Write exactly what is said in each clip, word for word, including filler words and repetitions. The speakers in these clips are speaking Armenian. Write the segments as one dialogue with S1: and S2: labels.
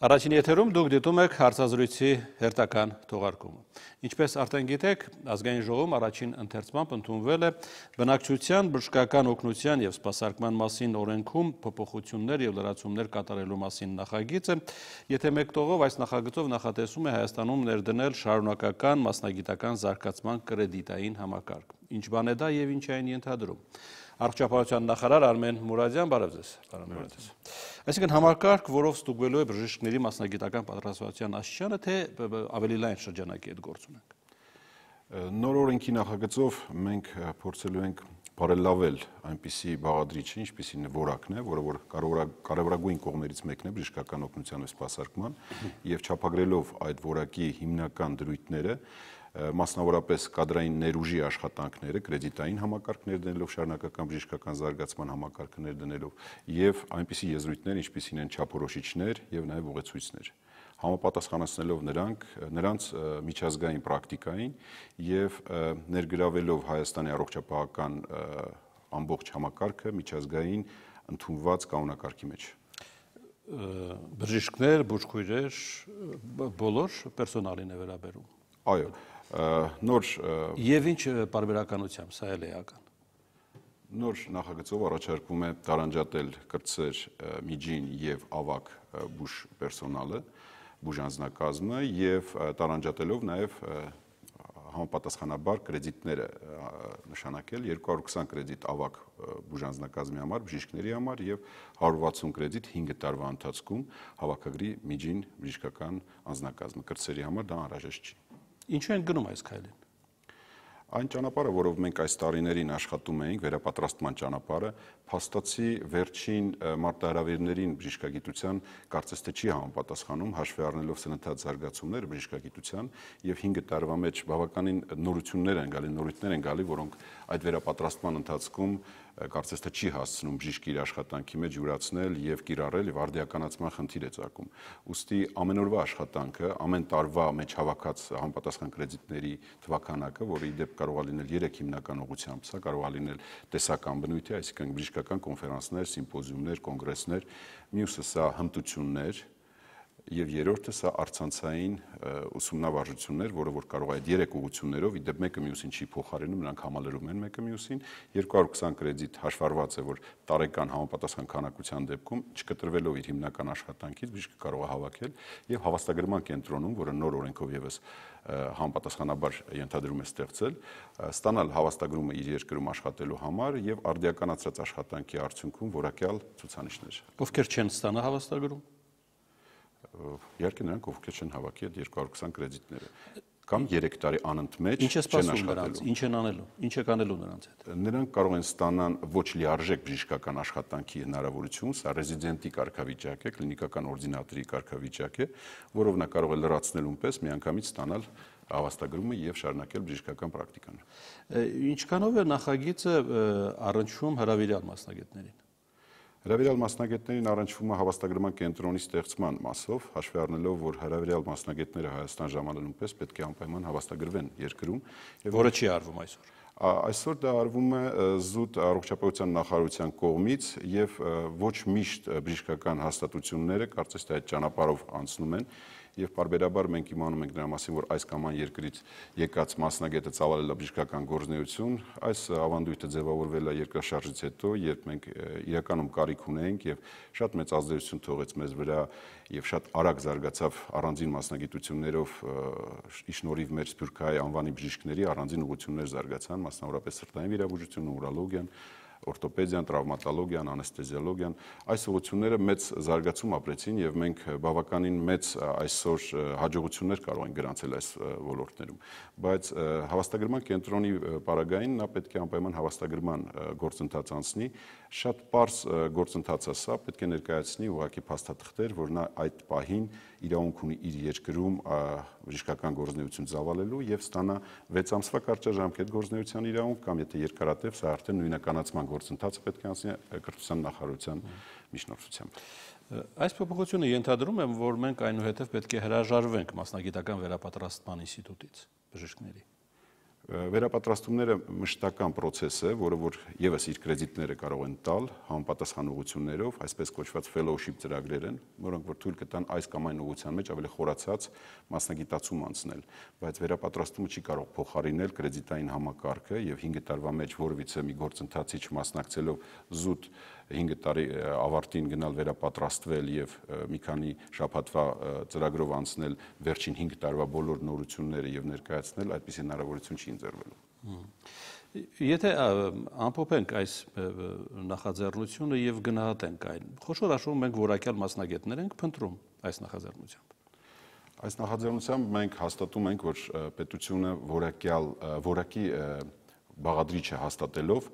S1: Առաջին եթերում դուք դիտում եք հարցազրույցի հերթական թողարկումը։ Ինչպես արդեն գիտեք, ազգային ժողովում առաջին ընթերցմամբ ընդունվել է բնակչության բժշկական օգնության և սպասարկման մասին օրենքում փոփոխություններ և լրացումներ կատարելու մասին նախագիծը, եթե մեկ տողով այս նախագծով նախատեսում է Հայաստանում ներդնել շարունակական մասնագիտական զարգացման կրեդիտային համակարգ։ Ինչ բան է դա և ինչ է այն ենթադրում։ Առողջապահության նախարար Արմեն Մուրադյան, բարև ձեզ։ Այսինքն համակարգ, որով ստուգվելու է բժիշկների մասնագիտական պատրաստվածության աստիճանը, թե ավելի լայն շրջանակի հետ գործ ունենք։
S2: Նոր օրենքի նախագծով մենք փորձելու ենք բարելավել այնպիսի բաղադրիչը, ինչպիսին որակն է, որը որ կարևորագույն կողմերից մեկն է բժշկական օգնության և սպասարկման, եւ չափագրելով այդ որակի հիմնական դրույթները, մասնավորապես կադրային ներուժի աշխատանքները, կրեդիտային համակարգ ներդնելով, շարունակական բժշկական զարգացման համակարգը ներդնելով եւ այնպիսի եզրույթներ, ինչպիսին են չափորոշիչներ եւ նաեւ ուղեցույցներ, համապատասխանեցնելով նրանք նրանց միջազգային պրակտիկային եւ ներգրավելով Հայաստանի առողջապահական ամբողջ համակարգը միջազգային ընդունված կանոնակարգի մեջ։
S1: Բժիշկներ, բուժքույրեր, բոլոր պերսոնալին է վերաբերում։
S2: Այո, նոր
S1: Եվ ինչ պարբերականությամբ, սա էլ է էական։
S2: Նոր նախագծով առաջարկվում է տարանջատել կրտսեր, միջին եւ ավագ բուժ պերսոնալը, բուժանձնակազմը եւ տարանջատելով նաեւ համապատասխանաբար կրեդիտները նշանակել երկու հարյուր քսան կրեդիտ ավագ բուժանձնակազմի համար, բժիշկների համար եւ հարյուր վաթսուն կրեդիտ հինգ տարվա ընթացքում հավաքագրի միջին բժշկական անձնակազմը, կրտսերի համար դա անհրաժեշտ չի։
S1: Ինչու են գնում այս քայլին։
S2: Այն ճանապարհը, որով մենք այս տարիներին աշխատում էինք, վերապատրաստման ճանապարհը, փաստացի վերջին մարտահրավերներին բժշկագիտության կարծես թե չի համապատասխանում, հաշվի առնելով սննդած զարգացումները բժշկագիտության եւ հինգ տարվա մեջ բավականին նորություններ են գալի, նորույթներ են գալի, որոնք այդ վերապատրաստման ընթացքում կարծես թե չի հասցնում բժիշկը իր աշխատանքի մեջ յուրացնել եւ կիրառել եւ արդիականացման խնդիր է ծագում։ Ուստի ամենօրվա աշխատանքը, ամեն տարվա մեջ հավաքած համապատասխան կրեդիտների թվականակը, որը ի դեպ կարող է լինել երեք հիմնական ուղղությամբ, սա կարող է լինել տեսական բնույթի, այսինքն բժշկական կոնֆերանսներ, սիմպոզիումներ, կոնգրեսներ, մյուսը սա հմտություններ եւ երրորդը սա առցանցային ուսումնավարժություններ, որը որ կարող է այդ երեք ուղղություններով, ի դեպ մեկը մյուսին չի փոխարինում, նրանք համալրում են մեկը մյուսին, երկու հարյուր քսան կրեդիտ հաշվառված է, որ տարեկան համապատասխան քանակության դեպքում չկտրվելով իր հիմնական աշխատանքից բժիշկը կարող է հավաքել եւ հավաստագրման կենտրոնում, որը նոր օրենքով եւս համապատասխանաբար ենթադրում է ստեղծել, ստանալ հավաստագրումը իր երկրում աշխատելու համար եւ արդիականացրած աշխատանքի արդյունքում որակյալ ցուցանիշներ։
S1: Ովքեր չեն ստանա հավաստագրում։
S2: Իհարկե նրանք ովքեր չեն հավաքի այդ երկու հարյուր քսան կրեդիտները կամ երեք տարի անընդմեջ
S1: Ինչ է սպասում նրանց, ինչ են անելու, ինչ է կանելու նրանց հետ։
S2: Նրանք կարող են ստանալ ոչ լիարժեք բժշկական աշխատանքի հնարավորություն, սա ռեզիդենտի կարգավիճակ է, կլինիկական օրդինատորի կարգավիճակ է, որով նա կարող է լրացնելուն պես միանգամից ստանալ հավաստագրումը եւ շարունակել բժշկական պրակտիկան։
S1: Ինչքանով է նախագիծը առնչվում հրավիրյալ մասնագետներին։
S2: Հրավիրյալ մասնագետներին առնչվում է հավաստագրման կենտրոնի ստեղծման մասով, հաշվի առնելով, որ հրավիրյալ մասնագետները Հայաստան ժամանելուն պես պետք է անպայման հավաստագրվեն երկրում,
S1: որը չի արվում այսօր։
S2: Այսօր դա արվում է զուտ առողջապահության նախարարության կողմից եւ ոչ միշտ բժշկական հաստատությունները կարծես թե այդ ճանապարհով անցնում են եւ պարբերաբար մենք իմանում ենք դրա մասին, որ այս կամ այն երկրից եկած մասնագետը ծավալել է բժշկական գործունեություն, այս ավանդույթը ձևավորվել է երկրաշարժից հետո, երբ մենք իրականում կարիք ունեինք եւ շատ մեծ ազդեցություն թողեց մեզ վրա եւ շատ արագ զարգացավ առանձին մասնագիտություններով ի շնորհիվ մեր Սփյուռքահայ անվանի բժիշկների առանձին ուղղություններ զարգացան, մասնավորապես սրտային վիրաբուժությունը, ուրոլոգիան, օրթոպեդիան, տրավմատոլոգիան, անեստեզիոլոգիան, այս ուղղությունները մեծ զարգացում ապրեցին եւ մենք բավականին մեծ այսօր հաջողություններ կարող ենք գրանցել այս ոլորտներում, բայց հավաստագրման կենտրոնի պարագային նա պետք է անպայման հավաստագրման գործընթաց անցնի, շատ པարզ գործընթաց է սա, պետք է ներկայացնի ուղղակի փաստաթղթեր, որ նա այդ պահին իրավունք ունի իր երկրում բժշկական գործունեություն ծավալելու եւ ստանա վեց ամսվա կարճաժամկետ գործունեության իրավունք կամ եթե երկարատև սա արդեն նույնականացման գործընթացը պետք է անցնի կրթության նախարարության միջնորդությամբ։
S1: Այս փոփոխությունը ենթադրում է, որ մենք այնուհետև պետք է հրաժարվենք մասնագիտական վերապատրաստման ինստիտուտից բժիշկների։
S2: Վերապատրաստումները մշտական process է, որը որ եւս իր կրեդիտները կարող են տալ համապատասխան ուղղություններով, այսպես կոչված fellowship ծրագրեր են, որոնք որ թույլ կտան այս կամ այն ուղղության մեջ ավելի խորացած մասնագիտացում անցնել, բայց վերապատրաստումը չի կարող փոխարինել կրեդիտային համակարգը եւ հինգ տարվա մեջ որևիցե մի գործընթացի չմասնակցելով զուտ հինգ տարի ավարտին գնալ վերապատրաստվել եւ մի քանի շաբաթվա ծրագրով անցնել վերջին հինգ տարվա բոլոր նորությունները եւ ներկայացնել, այդպիսի հնարավորություն չի ընձեռվելու։
S1: Եթե ամփոփենք այս նախաձեռնությունը եւ գնահատենք այն, խոշոր հաշվով մենք որակյալ մասնագետներ ենք փնտրում այս նախաձեռնությամբ։
S2: Այս նախաձեռնությամբ մենք հաստատում ենք, որ պետությունը որակյալ որակի բաղադրիչ է հաստատելով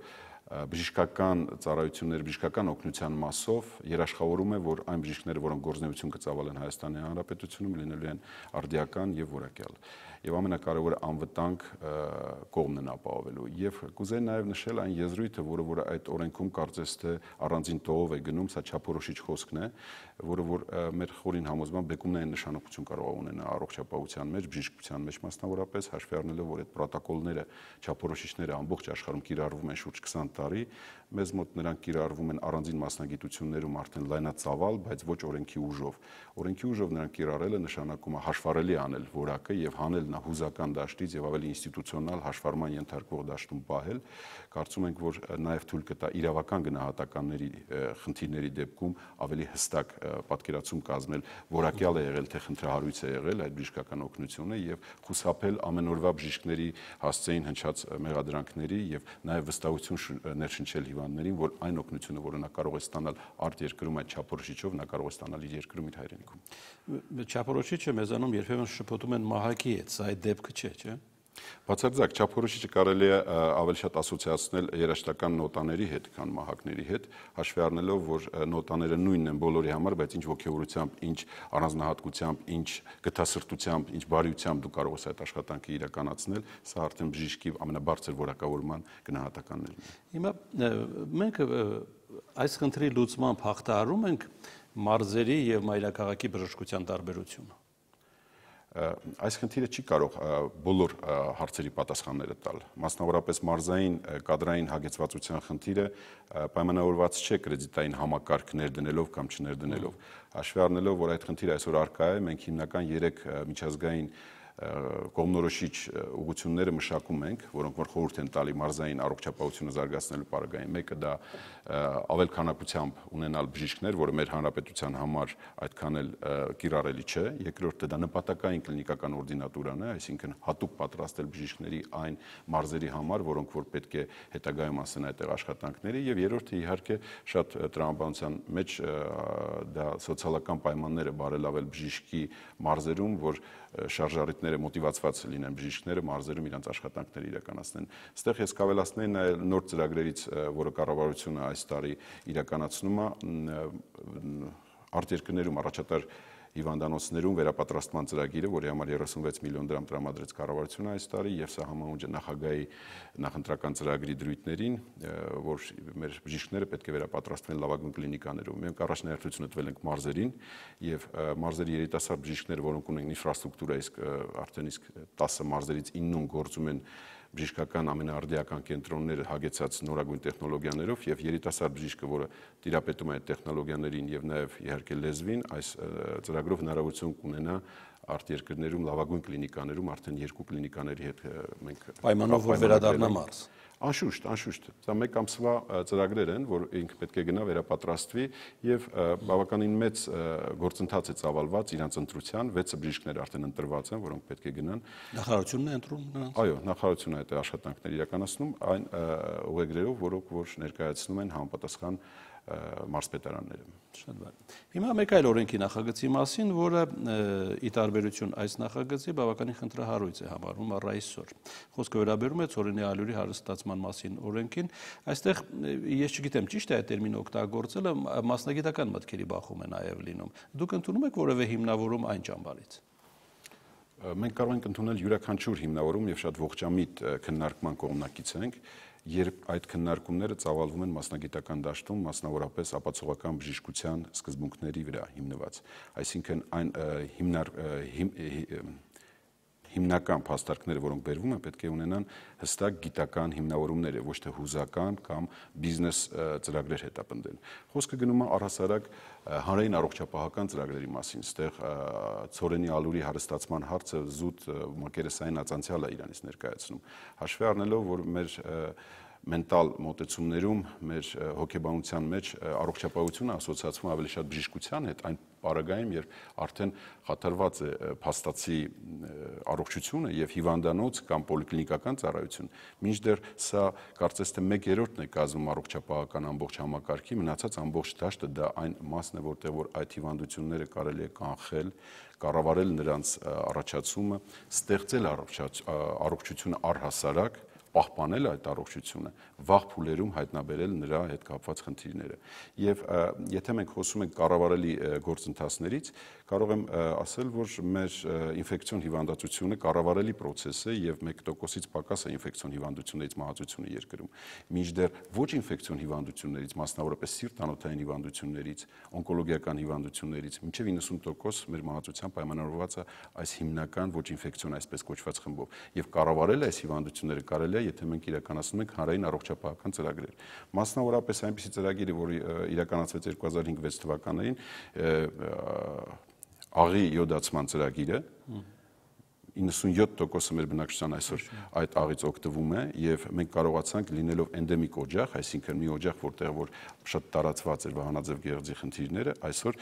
S2: բժշկական ծառայություններ, բժշկական օգնության մասով երաշխավորում է, որ այն բժիշկները, որոնք գործունեություն կծավալեն Հայաստանի Հանրապետությունում, լինելու են արդիական եւ որակյալ։ Եվ ամենակարևորը անվտանգ կողմն են ապահովելու։ Եվ կուզեի նաև նշել այն եզրույթը, որը որ այդ օրենքում կարծես թե առանձին տողով է գնում, սա չափորոշիչ խոսքն է, որը որ մեր խորին համոզմամբ բեկումնային նշանակություն կարող է ունենալ առողջապահության մեջ, բժշկության մեջ մասնավորապես, հաշվի առնելով, որ այդ պրոտոկոլները, չափորոշիչները ամբողջ աշխարհում կիրառվում են շուրջ քսան տարի, մեզ մոտ նրանք կիրառվում են առանձին մասնագիտություններում արդեն լայնածավալ, բայց ոչ օրենքի ուժով։ Օրենքի ուժով նրանք կիրառելը նշանակում է հաշվառելի անել որակը եւ հանել նա հուզական դաշտից եւ ավելի ինստիտուցիոնալ հաշվառման ենթարկվող դաշտում պահել, կարծում ենք, որ նաեւ թույլ կտա իրավական գնահատականների խնդիրների դեպքում ավելի հստակ պատկերացում կազմել, որակյալ է եղել թե խնդրահարույց է եղել այդ բժշկական օգնությունը եւ խուսափել ամենօրվա բժիշկների հասցեին հնչած մեղադրանքների եւ նաեւ վստահություն ներշնչել հիվանդներին, որ այն օգնությունը, որը նա կարող է ստանալ արտերկրում այդ չափորոշիչով, նա կարող է ստանալ իր երկրում, իր հայրենիքում։
S1: Չափորոշիչը մեզանում երբեմն շփոթում են մահակի հետ, սա այդ դեպքը չէ, չէ՞։
S2: Բացարձակ չափորոշիչը կարելի է ավելի շատ ասոցիացնել երաշտական նոտաների հետ, քան մահակների հետ, հաշվի առնելով, որ նոտաները նույնն են բոլորի համար, բայց ինչ ոգևորությամբ, ինչ առանձնահատկությամբ, ինչ գթասրտությամբ, ինչ բարիությամբ դու կարող ես այդ աշխատանքը իրականացնել, սա արդեն բժիշկի ամենաբարձր որակավորման գնահատականներն են։
S1: Հիմա մենք այս խնդրի լուծմամբ հաղթահարում ենք մարզերի եւ մայրաքաղաքի բժշկության տարբերությունը։
S2: Այս խնդիրը չի կարող բոլոր հարցերի պատասխանները տալ։ Մասնավորապես մարզային կադրային հագեցվածության խնդիրը պայմանավորված չէ կրեդիտային համակարգ ներդնելով կամ չներդնելով։ Հաշվի առնելով, որ այդ խնդիրը այսօր առկա է, մենք հիմնական երեք միջազգային կողմնորոշիչ ուղղությունները մշակում ենք, որոնք որ խորհուրդ են տալի մարզային առողջապահությունը զարգացնելու պարագային։ Մեկը դա ավել քանակությամբ ունենալ բժիշկներ, որը մեր հանրապետության համար այդքան էլ կիրառելի չէ։ Երկրորդը դա նպատակային կլինիկական օրդինատուրան է, այսինքն հատուկ պատրաստել բժիշկների այն մարզերի համար, որոնք որ պետք է հետագայում ասեն այդտեղ աշխատանքների, եւ երրորդը իհարկե շատ տրամաբանության մեջ դա սոցիալական պայմանները բարելավել բժիշկի մարզերում, որ շարժառիթները մոտիվացված լինեն բժիշկները մարզերում իրենց աշխատանքները իրականացնեն։ Այստեղ ես կավելացնեի նաև նոր ծրագրերից, որը կառավարությունը այս տարի իրականացնում է, արտերկրներում առաջատար հիվանդանոցներում վերապատրաստման ծրագիրը, որի համար երեսունվեց միլիոն դրամ տրամադրեց կառավարությունը այս տարի, եւ սա համահունչ է նախագահի նախընտրական ծրագրի դրույթներին, որ մեր բժիշկները պետք է վերապատրաստվեն լավագույն կլինիկաներում։ Մենք առաջնահերթությունը տվել ենք մարզերին, եւ մարզերի երիտասարդ բժիշկները, որոնք ունեն ինֆրաստրուկտուրա, իսկ արդեն իսկ տասը մարզերից իննում գործում են բժշկական ամենաարդիական կենտրոնները հագեցած նորագույն տեխնոլոգիաներով եւ երիտասարդ բժիշկը, որը տիրապետում է այդ տեխնոլոգիաներին եւ նաեւ իհարկե լեզվին, այս ծրագրով հնարավորություն կունենա արտերկրներում լավագույն կլինիկաներում արդեն երկու կլինիկաների հետ մենք
S1: պայմանով որ վերադառնա մարզ։
S2: Անշուշտ, անշուշտ, դա մեկ ամսվա ծրագրեր են, որ ինքը պետք է գնա վերապատրաստվի եւ բավականին մեծ գործընթաց է ծավալված իրանց ընտրության, վեցը բժիշկներ արդեն ընտրված են, որոնք պետք է գնան։
S1: Նախարարությունն է ընտրում նրանց։
S2: Այո, նախարարությունը այդ աշխատանքները իրականացնում այն ուղեգրերով, որոնք որ ներկայացնում են համապատասխան մարզպետարանները։
S1: Շատ բարի։ Հիմա մեկ այլ օրենքի նախագծի մասին, որը ի տարբերություն այս նախագծի բավականին խնդրահարույց է համարվում առ այսօր։ Խոսքը վերաբերում է ցորենի ալյուրի հարստացման մասին օրենքին։ Այստեղ ես չգիտեմ, ճիշտ է այդ տերմինը օգտագործելը, մասնագիտական մտքերի բախում է նաև լինում։ Դուք ընդունում եք որևէ հիմնավորում այն ճամբարից։
S2: Մենք կարող ենք ընդունել յուրաքանչյուր հիմնավորում եւ շատ ողջամիտ քննարկման կողմնակից ենք, երբ այդ քննարկումները ծավալվում են մասնագիտական դաշտում, մասնավորապես ապացողական բժշկության սկզբունքների վրա հիմնված։ Այսինքն այն հիմնար հիմնական փաստարկները, որոնք բերվում են, պետք է ունենան հստակ գիտական հիմնավորումներ, ոչ թե հուզական կամ բիզնես ծրագրեր հետապնդել։ Խոսքը գնում է առհասարակ հանրային առողջապահական ծրագրերի մասին, այստեղ ցորենի ալուրի հարստացման հարցը զուտ մակերեսային ածանցյալ է իրանից ներկայացնում, հաշվի առնելով, որ մեր մենտալ մոտեցումներում, մեր հոգեբանության մեջ առողջապահությունը ասոցիացվում ավելի շատ բժշկության հետ, այն պարագայում, երբ արդեն խաթարված է փաստացի առողջությունը եւ հիվանդանոց կամ պոլիկլինիկական ծառայություն, մինչդեռ սա կարծես թե մեկ երրորդն է կազմում առողջապահական ամբողջ համակարգի, մնացած ամբողջ դաշտը դա այն մասն է, որտեղ որ այդ հիվանդությունները կարելի է կանխել, կառավարել նրանց առաջացումը, ստեղծել առողջությունը առհասարակ, պահպանել այդ առողջությունը, վաղ փուլերում հայտնաբերել նրա հետ կապված խնդիրները։ Եվ եթե մենք խոսում ենք կառավարելի գործընթացներից, կարող եմ ասել, որ մեր ինֆեկցիոն հիվանդացությունը կառավարելի պրոցես է եւ մեկ տոկոսից պակաս է ինֆեկցիոն հիվանդություններից մահացությունը երկրում։ Մինչդեռ ոչ ինֆեկցիոն հիվանդություններից, մասնավորապես սիրտ-անոթային հիվանդություններից, օնկոլոգիական հիվանդություններից մինչեւ իննսուն տոկոս մեր մահացության պայմանավորված է այս հիմնական ոչ ինֆեկցիոն այսպես կոչված խմբով։ Եվ կառավարել այս հիվանդությունները կարելի է, եթե մենք իրականացնում ենք հանրային առողջապահական ծրագրեր։ Մասնավորապես այնպիսի ծրագիր, որը իրականացվեց երկու հազար հինգ վեց թվականներին, աղի յոդացման ծրագիրը, իննսունյոթ տոկոսը մեր բնակչության այսօր այդ աղից օգտվում է եւ մենք կարողացանք լինելով էնդեմիկ օջախ, այսինքն մի օջախ, որտեղ որ շատ տարածված էր վահանաձև գեղձի խնդիրները, այսօր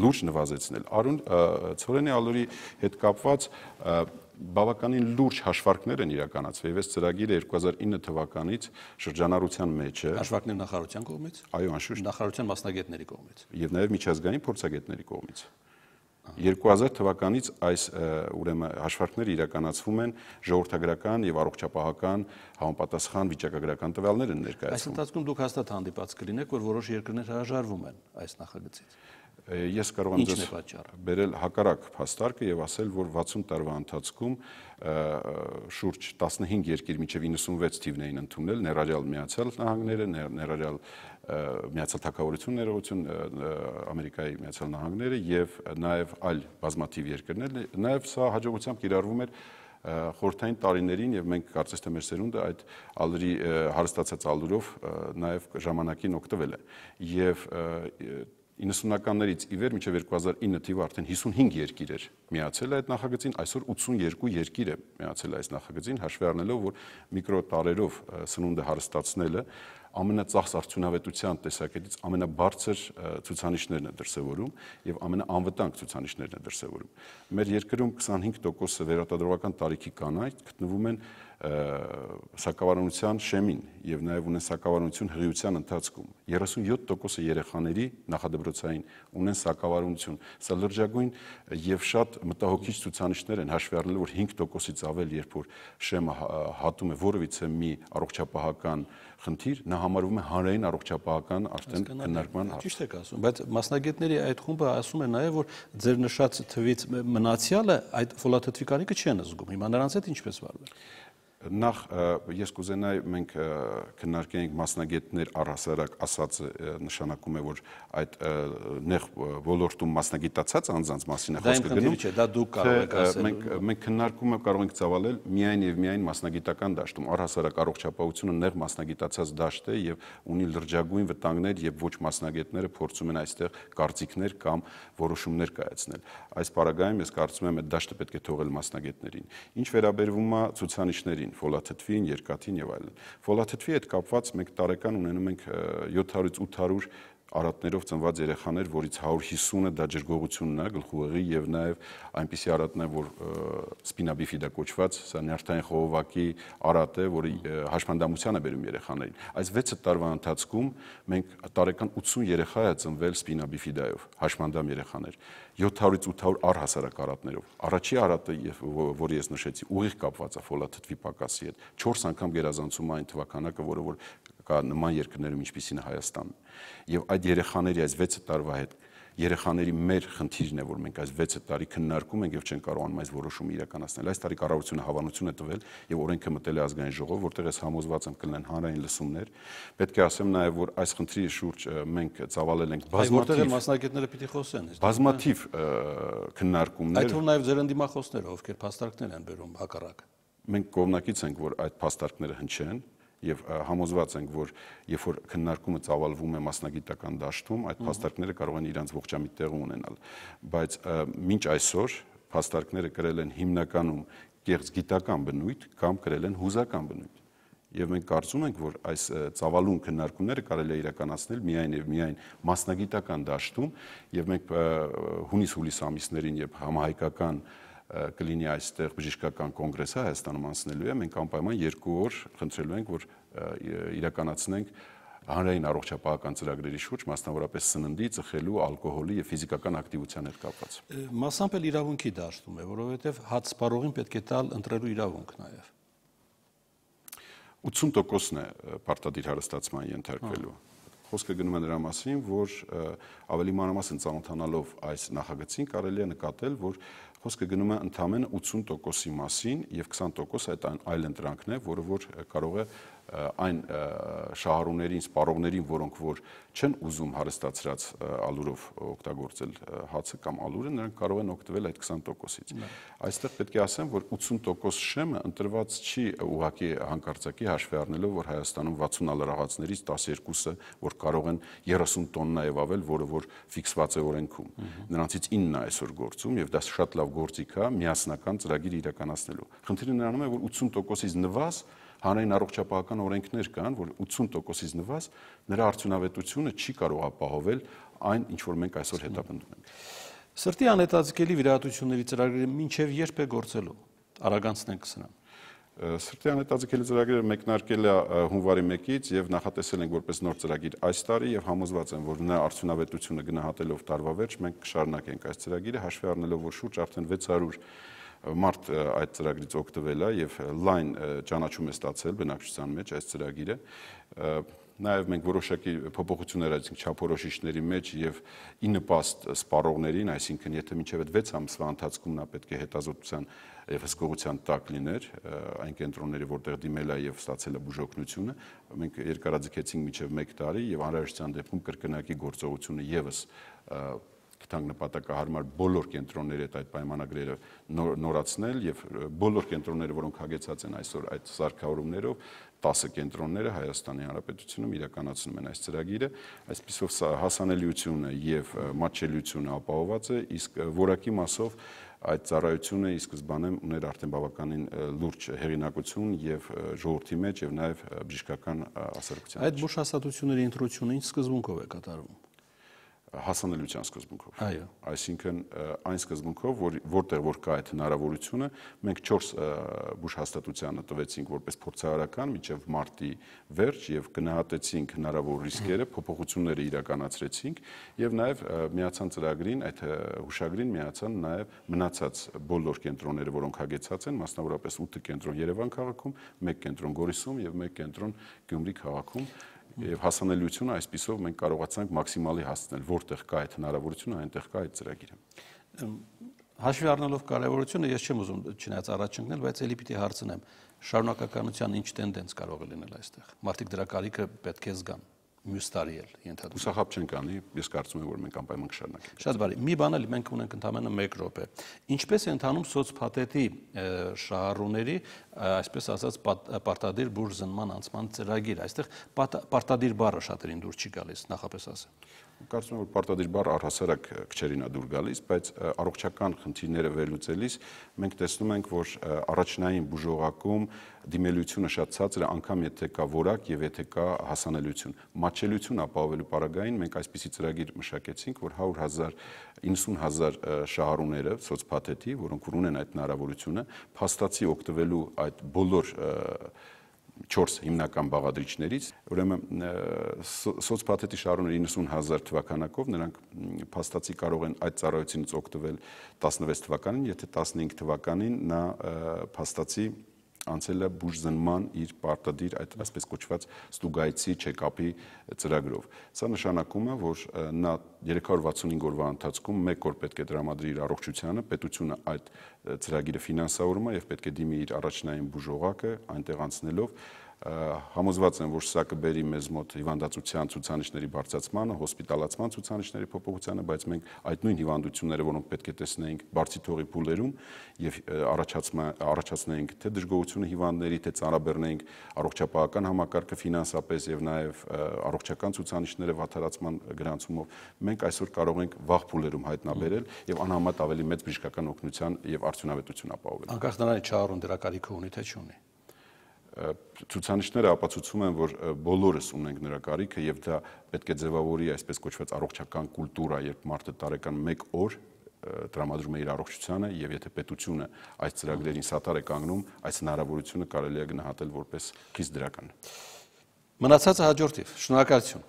S2: լուրջ նվազեցնել։ Արուն ցորենի ալուրի հետ կապված բավականին լուրջ հաշվարկներ են իրականացվել եւ այս ծրագիրը երկու հազար ինը թվականից շրջանառության մեջ է։
S1: Հաշվարկներ նախարարության կողմից։
S2: Այո, անշուշտ
S1: նախարարության մասնագետների կողմից
S2: եւ նաեւ միջազգային փորձագետների կողմից։ երկու հազար թվականից այս ուրեմն հաշվարկները իրականացվում են ժողովրդագրական եւ առողջապահական համապատասխան վիճակագրական տվյալներ են ներկայացվում։
S1: Այս ընթացքում դուք հաստատ հանդիպած կլինեք, որ որոշ երկրներ հրաժարվում են այս նախագծից։
S2: Ես կարող եմ ձեզ բերել հակառակ փաստարկը եւ ասել, որ վաթսուն տարվա ընթացքում շուրջ տասնհինգ երկիր մինչեւ իննսունվեց թիվն էին ընդունել, ներառյալ Միացյալ Նահանգները, ներառյալ Միացյալ Թագավորություն ներողություն, Ամերիկայի Միացյալ Նահանգները եւ նաեւ այլ բազմաթիվ երկրներ, նաեւ սա հաջողությամբ կիրառվում էր խորհրդային տարիներին եւ մենք կարծես թե մեր սերունդը այդ ալրի հարստացած ալուրով նաեւ ժամանակին օգտվել է եւ իննսունականներից ի վեր մինչև երկու հազար ինը թիվը արդեն հիսունհինգ երկիր էր միացել այդ նախագծին, այսօր ութսունյերկու երկիր է միացել այս նախագծին, հաշվի առնելով, որ միկրոտարերով սնունդը հարստացնելը ամենածախս արդյունավետության տեսակետից ամենաբարձր ցուցանիշներն է դրսևորում եւ ամենաանվտանգ ցուցանիշներն է դրսևորում։ Մեր երկրում քսանհինգ տոկոսը վերարտադրողական տարիքի կանայք գտնվում են սակավարունության շեմին եւ նաեւ ունեն սակավարունություն հղիության ընթացքում։ երեսունյոթ տոկոսը երեխաների նախադպրոցային ունեն սակավարունություն։ Սա լրջագույն եւ շատ մտահոգիչ ցուցանիշներ են, հաշվի առնելով, որ հինգ տոկոսից ավել, երբ որ շեմը հատում է որևիցե մի առողջապահական խնդիր, նա համարվում է հանրային առողջապահական արդեն քննարկման հարց։
S1: Ճիշտ եք ասում, բայց մասնագետների այդ խումբը ասում է նաեւ, որ ձեր նշած թվից մնացյալը այդ ֆոլաթթվի կարիքը չեն զգում։ Հիմա նրանց հետ ինչպես վարվել։
S2: Նախ ես կուզենայի մենք քննարկենք մասնագետներ առհասարակ ասածը նշանակում է, որ այդ նեղ ոլորտում մասնագիտացած անձանց մասին է խոսքը գնում։
S1: Դա դուք կարող եք ասել։
S2: Մենք մենք քննարկումը կարող ենք ծավալել միայն եւ միայն մասնագիտական դաշտում։ Առհասարակ առողջապահությունը նեղ մասնագիտացած դաշտ է եւ ունի լրջագույն վտանգներ եւ ոչ մասնագետները փորձում են այստեղ կարծիքներ կամ որոշումներ կայացնել։ Այս պարագայում ես կարծում եմ այդ դաշտը պետք է թողել մասնագետներին։ Ինչ վերաբերվում է ցուցանիշներին, ֆոլաթթվին, երկաթին եւ այլն։ Ֆոլաթթվի հետ կապված մենք տարեկան ունենում ենք յոթ հարյուրից ութ հարյուր արատներով ծնված երեխաներ, որից հարյուր հիսունը դա ջրգողությունն է, գլխուղեղի եւ նաեւ այնպիսի արատն է, որ սպինաբիֆիդա կոչված, սա նյարդային խողովակի արատ է, որը հաշմանդամության է բերում երեխաներին։ Այս վեց տարվա ընթացքում մենք տարեկան ութսուն երեխա է ծնվել սպինաբիֆիդայով, հաշմանդամ երեխաներ, յոթ հարյուրից ութ հարյուր առհասարակ արատներով։ Առաջի արատը, որը ես նշեցի, ուղիղ կապված է ֆոլաթթվի պակասի հետ, չորս անգամ գերազանցում է այն թվականակը, որը որ կա նման երկրներում, ինչպիսին է Հայաստանը։ Եվ այդ երեխաների այս վեց տարվա հետ երեխաների մեր խնդիրն է, որ մենք այս վեց տարի քննարկում ենք եւ չենք կարողանում այս որոշումը իրականացնել։ Այս տարի կառավարությունը հավանություն է տվել եւ օրենքը մտել է ազգային ժողով, որտեղ ես համոզված եմ կլինեն հանրային լսումներ։ Պետք է ասեմ նաեւ, որ այս խնդրի շուրջ մենք ծավալել ենք
S1: բազմաթիվ մասնագետները պիտի խոսեն։
S2: Բազմաթիվ քննարկումներ։
S1: Այդ թվում նաեւ ձեր ընդդիմախոսները, ովքեր փաստարկներ են բերում հակառակ։
S2: Մենք կողմնակից ենք, որ այդ փաստարկները հնչեն եւ համոզված ենք, որ երբ որ քննարկումը ծավալվում է մասնագիտական դաշտում, այդ փաստարկները կարող են իրենց ողջամիտ տեղ ունենալ, բայց մինչ այսօր փաստարկները կրել են հիմնականում կեղծ գիտական բնույթ կամ կրել են հուզական բնույթ։ Եվ մենք կարծում ենք, որ այս ծավալուն քննարկումները կարելի է իրականացնել միայն եւ միայն մասնագիտական դաշտում, եւ մենք հունիս-հուլիս ամիսներին, երբ համահայկական կլինի այստեղ բժշկական կոնգրեսը Հայաստանում անցնելու է, մենք անպայման երկու օր խնդրելու ենք, որ իրականացնենք հանրային առողջապահական ծրագրերի շուրջ, մասնավորապես սննդի, ծխելու, ալկոհոլի եւ ֆիզիկական ակտիվության հետ կապված։
S1: Մասամբ էլ իրավունքի դաշտում է, որովհետեւ հաց սպառողին պետք է տալ ընտրելու իրավունք նաեւ։
S2: ութսուն տոկոսն է պարտադիր հարստացման ենթարկվելու։ Խոսքը գնում է նրա մասին, որ ավելի մանրամասն ծանոթանալով այս նախագծին կարելի է նկատել, որ խոսքը գնում է ընդամենը ութսուն տոկոսի մասին եւ քսան տոկոս այդ այլ ընտրանքն է, որը որ կարող է այն շահառուներին, սպառողներին, որոնք որ չեն ուզում հարստացրած ալուրով օգտագործել հացը կամ ալուրը, նրանք կարող են օգտվել այդ քսան տոկոսից։ Այստեղ պետք է ասեմ, որ ութսուն տոկոս շեմը ընտրված չի ուղղակի հանկարծակի հաշվի առնելով, որ Հայաստանում վաթսուն ալրաղացներից տասներկուսը, որ կարող են երեսուն տոննա եւ ավել, որը որ ֆիքսված է օրենքում։ Նրանցից իննն է այսօր գործում եւ դա շատ լավ գործիք է միասնական ծրագիր իրականացնելու։ Խնդիրը նրանում է, որ ութսուն տոկոսից նվազ հանրային առողջապահական օրենքներ կան, որ ութսուն տոկոսից նվազ նրա արդյունավետությունը չի կարող ապահովել այն, ինչ որ մենք այսօր հետապնդում ենք։
S1: Սրտի անհետաձգելի վիրահատությունների ծրագրերը մինչև երբ է գործելու։ Արագանցնենք սրան։
S2: Սրտի անհետաձգելի ծրագրերը մեկնարկել է հունվարի մեկից եւ նախատեսել ենք որպես նոր ծրագիր այս տարի եւ համոզված եմ, որ նրա արդյունավետությունը գնահատելով տարվա վերջ մենք կշարունակենք այս ծրագիրը, հաշվի առնելով, որ շուրջ արդեն վեց հարյուր մարդ այդ ծրագրից օգտվել է եւ լայն ճանաչում է ստացել բնակչության մեջ այս ծրագիրը։ Նաեւ մենք որոշակի փոփոխություններ արեցինք չափորոշիչների մեջ եւ ի նպաստ սպառողներին, այսինքն եթե մինչեւ այդ վեց ամսվա ընթացքում նա պետք է հետազոտության եւ հսկողության տակ լիներ այն կենտրոնները, որտեղ դիմել է եւ ստացել է բուժօգնությունը, մենք երկարաձգեցինք մինչեւ մեկ տարի եւ անհրաժեշտության դեպքում կրկնակի գործողությունը եւս կտանք նպատակահարմար բոլոր կենտրոնների հետ այդ պայմանագրերը նորացնել եւ բոլոր կենտրոնները, որոնք հագեցած են այսօր այդ սարքավորումներով, տասը կենտրոնները Հայաստանի Հանրապետությունում իրականացնում են այս ծրագիրը, այսպիսով հասանելիությունը եւ մատչելիությունը ապահոված է, իսկ որակի մասով այդ ծառայությունը ի սկզբանե ուներ արդեն բավականին լուրջ հեղինակություն եւ ժողովրդի մեջ եւ նաեւ բժշկական հասարակության։
S1: Այդ բուժհաստատությունների ընտրությունը ինչ սկզբունքով է կատարվում։
S2: Հասանելիության սկզբունքով։
S1: Այո։
S2: Այսինքն այն սկզբունքով, որ որտեղ որ կա այդ հնարավորությունը, մենք չորս բուժհաստատությանը տվեցինք որպես փորձարարական մինչև մարտի վերջ եւ գնահատեցինք հնարավոր ռիսկերը, փոփոխությունները իրականացրեցինք եւ նաեւ միացան ծրագրին, այդ հուշագրին միացան նաեւ մնացած բոլոր կենտրոնները, որոնք հագեցած են, մասնավորապես ութ կենտրոն Երևան քաղաքում, մեկ կենտրոն Գորիսում եւ մեկ կենտրոն Գյումրի քաղաքում։ Եվ հասանելիությունը այսպիսով մենք կարողացանք մաքսիմալի հասցնել, որտեղ կա այդ հնարավորությունը, այնտեղ կա այդ ծրագիրը։
S1: Հաշվի առնելով կարևորությունը, ես չեմ ուզում չնայած առաջ ընկնել, բայց ելի պիտի հարցնեմ, շարունակականության ինչ տենդենս կարող է լինել այստեղ։ Մարդիկ դրա կարիքը պետք է զգան։ Մյուս տարի էլ ենթադրում։
S2: Հուսախաբ չենք անի, ես կարծում եմ, որ մենք անպայման կշարունակենք։
S1: Շատ բարի։ Մի բան էլ մենք ունենք ընդամենը մեկ րոպե։ Ինչպես է ընթանում սոցփաթեթի շահառուների, այսպես ասած, պարտադիր բուժզնման անցման ծրագիր։ Այստեղ պարտադիր բառը շատերին դուր չի գալիս, նախապես ասեմ։
S2: Կարծում եմ, որ պարտադիր բառը առհասարակ քչերին է դուր գալիս, բայց առողջական խնդիրները վերլուծելիս մենք տեսնում ենք, որ առաջնային բուժողակում դիմելիությունը շատ ցածր է, անգամ եթե կա որակ եւ եթե կա հասանելիություն։ Մատչելիություն ապահովելու պարագային մենք այսպիսի ծրագիր մշակեցինք, որ հարյուր հազար, իննսուն հազար շահառուները սոցփաթեթի, որոնք ունեն այդ հնարավորությունը, փաստացի օգտվելու այդ բոլոր չորս հիմնական բաղադրիչներից, ուրեմն սոցփաթեթի շահառուները իննսուն հազար թվականակով նրանք փաստացի կարող են այդ ծառայությունից օգտվել տասնվեց թվականին, եթե տասնհինգ թվականին նա փաստացի անցել է բուժզնման իր պարտադիր այդ այսպես կոչված ստուգայցի չեկապի ծրագրով։ Սա նշանակում է, որ նա երեք հարյուր վաթսունհինգ օրվա ընթացքում մեկ օր պետք է տրամադրի իր առողջությանը, պետությունը այդ ծրագիրը ֆինանսավորում է եւ պետք է դիմի իր առաջնային բուժողակը այնտեղ անցնելով համոզված եմ, որ սա կբերի մեզ մոտ հիվանդացության ցուցանիշների բարձրացմանը, հոսպիտալացման ցուցանիշների փոփոխությանը, բայց մենք այդ նույն հիվանդությունները, որոնք պետք է տեսնեինք բարձի թողի փուլերում եւ առաջացնեինք թե դժգոհությունը հիվանդների, թե ծանրաբեռնեինք առողջապահական համակարգը ֆինանսապես եւ նաեւ առողջական ցուցանիշները վատթարացման գրանցումով, մենք այսօր կարող ենք վաղ փուլերում հայտնաբերել եւ անհամեմատ ավելի մեծ բժշկական օգնության եւ արդյունավետություն ապահովել։
S1: Անկախ նրանից չարուն դրա կարիքը ունի թե չունի։
S2: Ցուցանիշները ապացուցում են, որ բոլորս ունենք նրա կարիքը եւ դա պետք է ձևավորի այսպես կոչված առողջական կուլտուրա, երբ մարդը տարեկան մեկ օր տրամադրում է իր առողջությանը եւ եթե պետությունը այս ծրագրերին սատար է կանգնում, այս հնարավորությունը կարելի է գնահատել որպես քիչ դրական։
S1: Մնացածը հաջորդիվ։ Շնորհակալություն։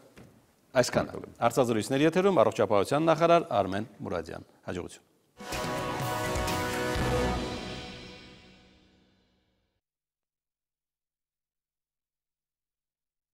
S1: Այսքանը։ Հարցազրույցների եթերում առողջապահության նախարար Արմեն Մուրադյան։ Հաջողություն։